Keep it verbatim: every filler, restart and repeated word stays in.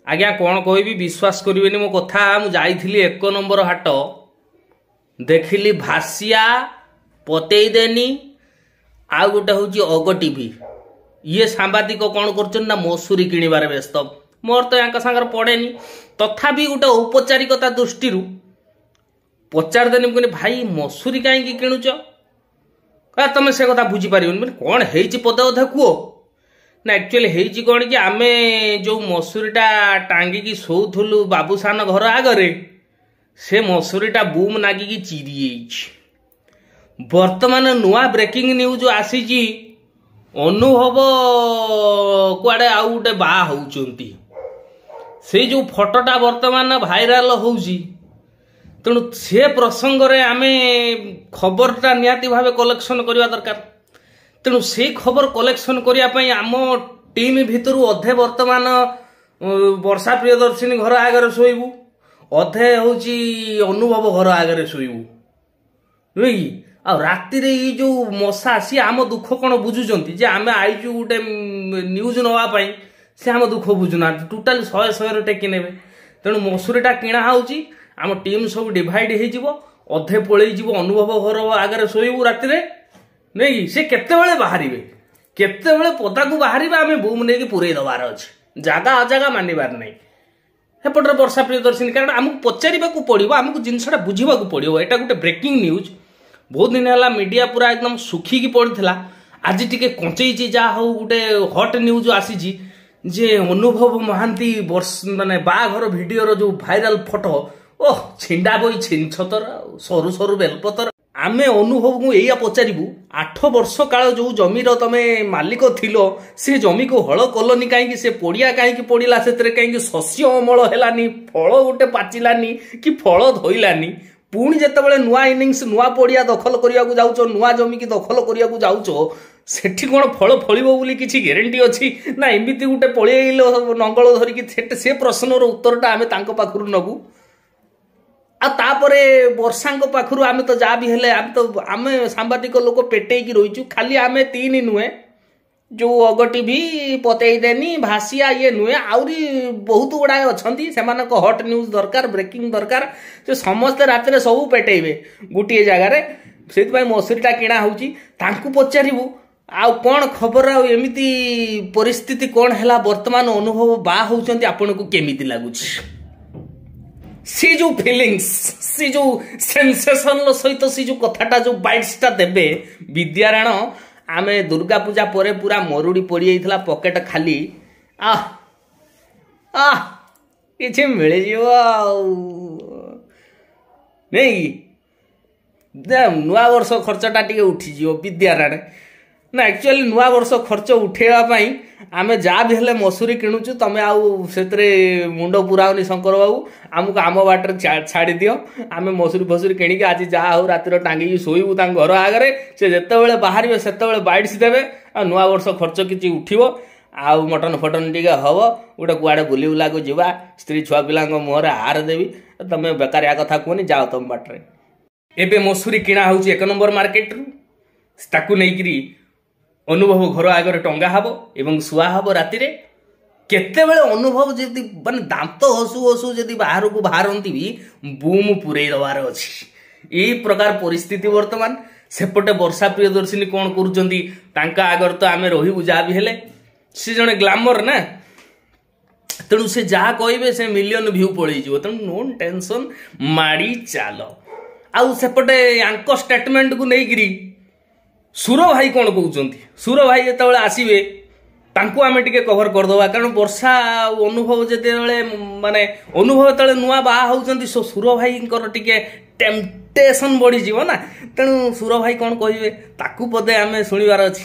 ଆଜ୍ଞା କ'ଣ କହିବି, ବିଶ୍ୱାସ କରିବେନି ମୋ କଥା। ମୁଁ ଯାଇଥିଲି ଏକ ନମ୍ବର ହାଟ, ଦେଖିଲି ଭାସିଆ ପତେଇ ଦେନି, ଆଉ ଗୋଟେ ହେଉଛି ଅଗ ଟିଭି। ଇଏ ସାମ୍ବାଦିକ କ'ଣ କରୁଛନ୍ତି ନା ମସୁରୀ କିଣିବାରେ ବ୍ୟସ୍ତ। ମୋର ତ ୟାଙ୍କ ସାଙ୍ଗରେ ପଡ଼େନି, ତଥାପି ଗୋଟେ ଔପଚାରିକତା ଦୃଷ୍ଟିରୁ ପଚାରିଦେନି। ମୁଁ କହିଲି, ଭାଇ, ମସୁରୀ କାହିଁକି କିଣୁଛ? କହିଲା, ତମେ ସେ କଥା ବୁଝିପାରିବନି। ମାନେ କ'ଣ ହେଇଛି, ପଦେ ଅଧେ କୁହ ନା। ଆକ୍ଚୁଆଲି ହେଇଛି କ'ଣ କି, ଆମେ ଯୋଉ ମସୁରୀଟା ଟାଙ୍ଗିକି ଶୋଉଥିଲୁ ବାବୁସାନ ଘର ଆଗରେ, ସେ ମସୁରୀଟା ବୁମ୍ ନାଗିକି ଚିରି ଯାଇଛି। ବର୍ତ୍ତମାନ ନୂଆ ବ୍ରେକିଂ ନ୍ୟୁଜ୍ ଆସିଛି, ଅନୁଭବ କୁଆଡ଼େ ଆଉ ଗୋଟେ ବାହା ହଉଛନ୍ତି। ସେଇ ଯୋଉ ଫଟୋଟା ବର୍ତ୍ତମାନ ଭାଇରାଲ ହଉଛି, ତେଣୁ ସେ ପ୍ରସଙ୍ଗରେ ଆମେ ଖବରଟା ନିହାତି ଭାବେ କଲେକ୍ସନ କରିବା ଦରକାର। ତେଣୁ ସେଇ ଖବର କଲେକ୍ସନ କରିବା ପାଇଁ ଆମ ଟିମ୍ ଭିତରୁ ଅଧେ ବର୍ତ୍ତମାନ ବର୍ଷା ପ୍ରିୟଦର୍ଶିନୀ ଘର ଆଗରେ ଶୋଇବୁ, ଅଧେ ହଉଛି ଅନୁଭବ ଘର ଆଗରେ ଶୋଇବୁ, ନୁହେଁ କି? ଆଉ ରାତିରେ ଏଇ ଯୋଉ ମଶା, ସିଏ ଆମ ଦୁଃଖ କ'ଣ ବୁଝୁଛନ୍ତି ଯେ ଆମେ ଆଇଛୁ ଗୋଟେ ନ୍ୟୁଜ୍ ନେବା ପାଇଁ? ସେ ଆମ ଦୁଃଖ ବୁଝୁନାହାନ୍ତି, ଟୋଟାଲି ଶହେ ଶହେରେ ଟେକି ନେବେ। ତେଣୁ ମସୁରୀଟା କିଣା ହଉଛି, ଆମ ଟିମ୍ ସବୁ ଡିଭାଇଡ୍ ହେଇଯିବ। ଅଧେ ପଳେଇ ଯିବ ଅନୁଭବ ଘର ଆଗରେ ଶୋଇବୁ ରାତିରେ, ନାଇଁ ସେ କେତେବେଳେ ବାହାରିବେ, କେତେବେଳେ ପଦାକୁ ବାହାରିବେ, ଆମେ ବୁମ୍ ନେଇକି ପୁରେଇ ଦେବାର ଅଛି। ଜାଗା ଅଜାଗା ମାନିବାର ନାହିଁ। ସେପଟରେ ବର୍ଷା ପ୍ରିୟଦର୍ଶିନୀ, କାରଣ ଆମକୁ ପଚାରିବାକୁ ପଡ଼ିବ, ଆମକୁ ଜିନିଷଟା ବୁଝିବାକୁ ପଡ଼ିବ। ଏଇଟା ଗୋଟେ ବ୍ରେକିଂ ନ୍ୟୁଜ୍। ବହୁତ ଦିନ ହେଲା ମିଡ଼ିଆ ପୁରା ଏକଦମ ଶୁଖିକି ପଡ଼ିଥିଲା, ଆଜି ଟିକେ କଞ୍ଚେଇଛି। ଯାହା ହଉ, ଗୋଟେ ହଟ୍ ନ୍ୟୁଜ୍ ଆସିଛି ଯେ ଅନୁଭବ ମହାନ୍ତି ବର୍ଷ ମାନେ ବାହାଘର ଭିଡ଼ିଓର ଯୋଉ ଭାଇରାଲ ଫଟୋ, ଓହ, ଛିଣ୍ଡା ବହି ଛିନଛତର ଆଉ ସରୁ ସରୁ ବେଲପତର। ଆମେ ଅନୁଭବକୁ ଏଇଆ ପଚାରିବୁ, ଆଠ ବର୍ଷ କାଳ ଯୋଉ ଜମିର ତମେ ମାଲିକ ଥିଲ, ସେ ଜମିକୁ ହଳ କଲନି କାହିଁକି? ସେ ପଡ଼ିଆ କାହିଁକି ପଡ଼ିଲା? ସେଥିରେ କାହିଁକି ଶସ୍ୟ ଅମଳ ହେଲାନି, ଫଳ ଗୋଟେ ପାଚିଲାନି କି ଫଳ ଧଇଲାନି? ପୁଣି ଯେତେବେଳେ ନୂଆ ଇନିଂସ, ନୂଆ ପଡ଼ିଆ ଦଖଲ କରିବାକୁ ଯାଉଛ, ନୂଆ ଜମିକି ଦଖଲ କରିବାକୁ ଯାଉଛ, ସେଠି କ'ଣ ଫଳ ଫଳିବ ବୋଲି କିଛି ଗ୍ୟାରେଣ୍ଟି ଅଛି, ନା ଏମିତି ଗୋଟେ ପଳେଇ ନଙ୍ଗଳ ଧରିକି? ସେ ପ୍ରଶ୍ନର ଉତ୍ତରଟା ଆମେ ତାଙ୍କ ପାଖରୁ ନେବୁ। ଆଉ ତାପରେ ବର୍ଷାଙ୍କ ପାଖରୁ ଆମେ ତ ଯାହା ବି ହେଲେ ଆମେ ତ ଆମେ ସାମ୍ବାଦିକ ଲୋକ ପେଟେଇକି ରହିଛୁ। ଖାଲି ଆମେ ତିନି ନୁହେଁ, ଯୋଉ ଅଗ ଟିଭି, ପତେଇ ଦେନି, ଭାସିଆ ଇଏ ନୁହେଁ, ଆହୁରି ବହୁତ ଗୁଡ଼ାଏ ଅଛନ୍ତି। ସେମାନଙ୍କ ହଟ୍ ନ୍ୟୁଜ୍ ଦରକାର, ବ୍ରେକିଂ ଦରକାର। ସେ ସମସ୍ତେ ରାତିରେ ସବୁ ପେଟେଇବେ ଗୋଟିଏ ଜାଗାରେ। ସେଇଥିପାଇଁ ମସୁରୀଟା କିଣା ହେଉଛି। ତାଙ୍କୁ ପଚାରିବୁ ଆଉ କ'ଣ ଖବର, ଆଉ ଏମିତି ପରିସ୍ଥିତି କ'ଣ ହେଲା, ବର୍ତ୍ତମାନ ଅନୁଭବ ବାହା ହଉଛନ୍ତି, ଆପଣଙ୍କୁ କେମିତି ଲାଗୁଛି? ସେ ଯୋଉ ଫିଲିଙ୍ଗସ୍, ସେ ଯୋଉ ସେନ୍ସେସନର ସହିତ ସେ ଯୋଉ କଥାଟା, ଯୋଉ ବାଇଟ୍ସଟା ଦେବେ। ବିଦ୍ୟାରାଣ, ଆମେ ଦୁର୍ଗା ପୂଜା ପରେ ପୁରା ମରୁଡ଼ି ପଡ଼ିଯାଇଥିଲା, ପକେଟ ଖାଲି, ଆহ ଆହ କିଛି ମିଳିଯିବ ଆଉ ନାଇଁ, ନୂଆ ବର୍ଷ ଖର୍ଚ୍ଚଟା ଟିକେ ଉଠିଯିବ। ବିଦ୍ୟାରାଣ ନା, ଆକ୍ଚୁଆଲି ନୂଆ ବର୍ଷ ଖର୍ଚ୍ଚ ଉଠେଇବା ପାଇଁ ଆମେ ଯାହା ବି ହେଲେ ମସୁରୀ କିଣୁଛୁ। ତମେ ଆଉ ସେଥିରେ ମୁଣ୍ଡ ପୁରାଉନି ଶଙ୍କର ବାବୁ, ଆମକୁ ଆମ ବାଟରେ ଛାଡ଼ିଦିଅ। ଆମେ ମସୁରୀ ଫସୁରୀ କିଣିକି ଆଜି ଯାହା ହଉ ରାତିରେ ଟାଙ୍ଗିକି ଶୋଇବୁ ତାଙ୍କ ଘର ଆଗରେ। ସେ ଯେତେବେଳେ ବାହାରିବେ ସେତେବେଳେ ବାଇଟ୍ସ ଦେବେ, ଆଉ ନୂଆ ବର୍ଷ ଖର୍ଚ୍ଚ କିଛି ଉଠିବ, ଆଉ ମଟନ ଫଟନ ଟିକେ ହବ, ଗୋଟେ କୁଆଡ଼େ ବୁଲି ବୁଲାକୁ ଯିବା, ସ୍ତ୍ରୀ ଛୁଆ ପିଲାଙ୍କ ମୁହଁରେ ହାର ଦେବି। ତମେ ବେକାରିଆ କଥା କୁହନି, ଯାଅ ତମ ବାଟରେ। ଏବେ ମସୁରୀ କିଣା ହେଉଛି ଏକ ନମ୍ବର ମାର୍କେଟରୁ, ତାକୁ ନେଇକିରି ଅନୁଭବ ଘର ଆଗରେ ଟଙ୍ଗା ହବ ଏବଂ ଶୁଆ ହବ ରାତିରେ। କେତେବେଳେ ଅନୁଭବ ଯଦି ମାନେ ଦାନ୍ତ ହସୁ ହସୁ ଯଦି ବାହାରକୁ ବାହାରନ୍ତି ବି ବୁମ୍ ପୁରେଇ ଦେବାର ଅଛି। ଏଇ ପ୍ରକାର ପରିସ୍ଥିତି ବର୍ତ୍ତମାନ। ସେପଟେ ବର୍ଷା ପ୍ରିୟଦର୍ଶିନୀ କ'ଣ କରୁଛନ୍ତି, ତାଙ୍କ ଆଗରେ ତ ଆମେ ରହିବୁ ଯାହା ବି ହେଲେ। ସେ ଜଣେ ଗ୍ଲାମର ନା, ତେଣୁ ସେ ଯାହା କହିବେ ସେ ମିଲିୟନ ଭ୍ୟୁ ପଳେଇଯିବ। ତେଣୁ ନୋ ଟେନସନ, ମାଡ଼ି ଚାଲ। ଆଉ ସେପଟେ ୟାଙ୍କ ଷ୍ଟେଟମେଣ୍ଟକୁ ନେଇକିରି ସୁର ଭାଇ କ'ଣ କହୁଛନ୍ତି, ସୁର ଭାଇ ଯେତେବେଳେ ଆସିବେ ତାଙ୍କୁ ଆମେ ଟିକେ କଭର କରିଦେବା। କାରଣ ବର୍ଷା ଆଉ ଅନୁଭବ ଯେତେବେଳେ ମାନେ ଅନୁଭବ ଯେତେବେଳେ ନୂଆ ବାହା ହେଉଛନ୍ତି, ସୁର ଭାଇଙ୍କର ଟିକେ ଟେମ୍ପଟେସନ ବଢ଼ିଯିବ ନା। ତେଣୁ ସୁର ଭାଇ କ'ଣ କହିବେ ତାକୁ ବୋଧେ ଆମେ ଶୁଣିବାର ଅଛି।